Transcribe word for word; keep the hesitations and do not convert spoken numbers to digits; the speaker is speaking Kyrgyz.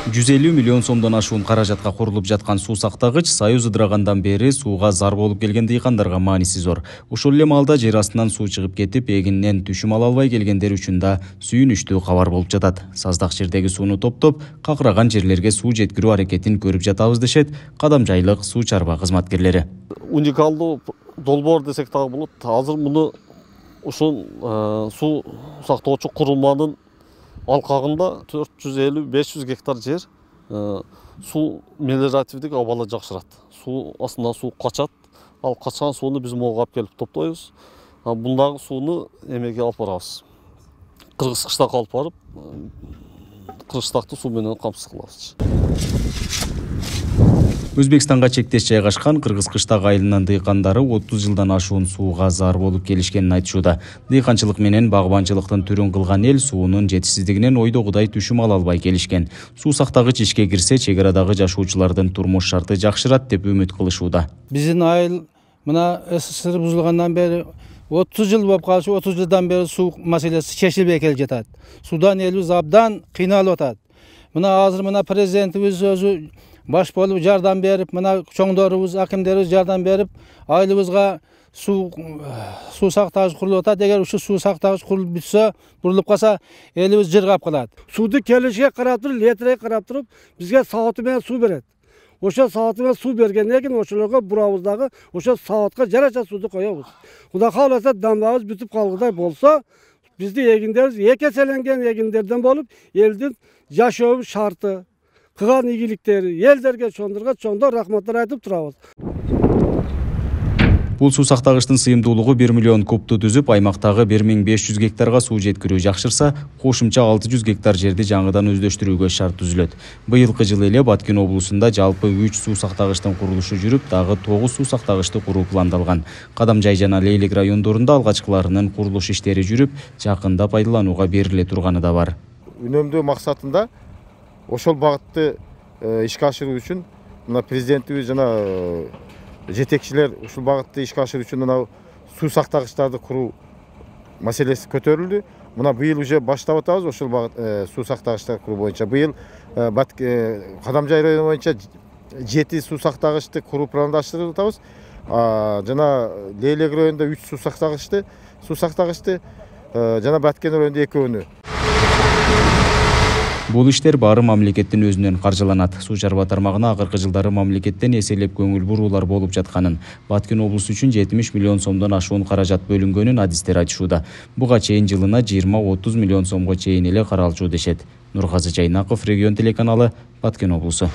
жүз элүү миллион сомдон ашуун каражатка курулуп жаткан суу сактагыч Союз ыдырагандан бери сууга зар болуп келген дыйкандарга мааниси зор. Ушул эле маалда жер астынан суу чыгып кетип, эгининен түшүм ала албай келгендер үчүн да сүйүнүчтүү кабар болуп жатат. Саздак жердеги сууну топтоп, какыраган жерлерге суу жеткирүү аракетин көрүп жатабыз дешет Кадамжайлык суу чарба кызматкерлери. Уникалдуу долбоор десек дагы болот. Азыр муну ушул суу сактоочу курулманын алкагында төрт жүз элүү беш жүз гектар жер суу мелиоративдик абалы жакшырат. Суу астынан суу качат. Ал качкан сууну биз могу алып келип топтойбуз. Бундагы сууну эмеге алып барабыз. Кыргыз кыштакка алып барып, кыргызтакты суу менен камсыз кылабыз. Өзбекстанга чектеш жайгашкан Кыргыз кыштак айылынын дыйкандары отуз жылдан ашуун сууга зар болуп келишкенин айтышууда. Дыйканчылык менен багбанчылыктын түрүн кылган эл суунун жетишсиздигинен ойдогудай түшүм ала албай келишкен. Суу сактагыч ишке кирсе, чек арадагы жашоочулардын турмуш шарты жакшырат деп үмүт кылышууда. Биздин айыл мына СССР бузулгандан бери отуз жыл болуп калышы, отуз жылдан бери суу маселеси чечилбей келе жатат. Судан элибиз абдан кыйналып атат. Мына азыр мына президентибиз өзү баш болуп жардам берип, мына чоңдорубуз, акимдерибиз жардам берип, айылыбызга суу суу сактагыч курулуп атат. Эгер ушул суу сактагыч курулуп бүтсө, бурулуп калса, элибиз жыргап калат. Сууду келишке карап туруп, летрге карап туруп, бизге сааты менен суу берет. Ошо сааты менен суу бергенден кийин ошолорго бурабыз дагы, ошо саатка жараша сууду коебуз. Кудай кааласа, дамбабыз бүтүп калгыдай болсо, бизди эгиндерибиз эки эселенген эгиндерден болуп, элдин жашоо шарты, кылган ийгиликтери элдерге чоңдорго чоңдор рахматтар айтып турабыз. Бул суу сактагычтын сыйымдуулугу бир миллион кубту түзүп, аймактагы бир миң беш жүз гектарга суу жеткирүү жакшырса, кошумча алты жүз гектар жерди жаңыдан өздөштүрүүгө шарт түзүлөт. Быйылкы жылы эле Баткен облусунда жалпы үч суу сактагычтын курулушу жүрүп, дагы тогуз суу сактагычты куруу пландалган. Кадамжай жана Лейлек райондорунда алгачкыларынын курулуш иштери жүрүп, жакында пайдаланууга бериле турганы да бар. Үнөмдөө максатында ошол багытты ишке ашыруу үчүн мына президентибиз жана жетекчилер ушул багытты ишке ашыруу үчүн мына суу сактагычтарды куруу маселеси көтөрүлдү. Мына быйыл уже баштап атабыз ошол багыт суу сактагычтарды куруу боюнча. Быйыл Кадамжай району боюнча жети суу сактагычты куруу пландаштырып атабыз. Жана Лейлек районунда үч суу сактагычты, суу сактагычты жана Баткен районунда экөөнү. Бул иштер баары мамлекеттин өзүнөн каржыланат. Суу чарба тармагына акыркы жылдары мамлекеттен эселеп көңүл буруулар болуп жатканын, Баткен облусу үчүн жетимиш миллион сомдон ашуун каражат бөлүнгөнүн адистер айтышууда. Буга чейин жылына жыйырма отуз миллион сомго чейин эле каралчу дешет. Нургазы Жайнаков, Регион телеканалы, Баткен облусу.